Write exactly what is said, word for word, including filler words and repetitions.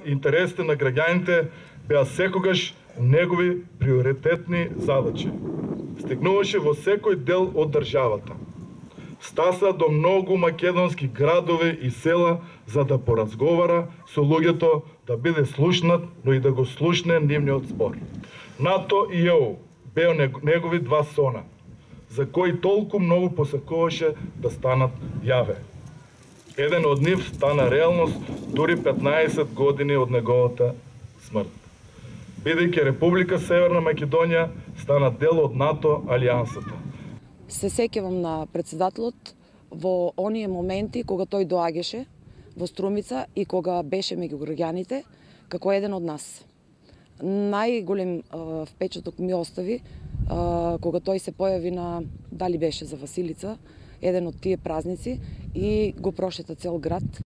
Интересите на граѓаните беа секогаш негови приоритетни задачи. Стигнуваше во секој дел од државата. Стаса до многу македонски градови и села за да поразговара со луѓето, да биде слушнат, но и да го слушне нивниот спор. НАТО и Е У беа негови два сона, за кои толку многу посакуваше да станат јаве. Еден од нив стана реалност дури петнаесет години од неговата смрт. Бидејќи Република Северна Македонија стана дел од НАТО алијансата. Се сеќавам на председателот во оние моменти кога тој доаѓаше во Струмица и кога беше меѓу граѓаните како еден од нас. Најголем впечаток ми остави кога тој се појави на, дали беше за Василица, еден од тие празници и го прошета цел град.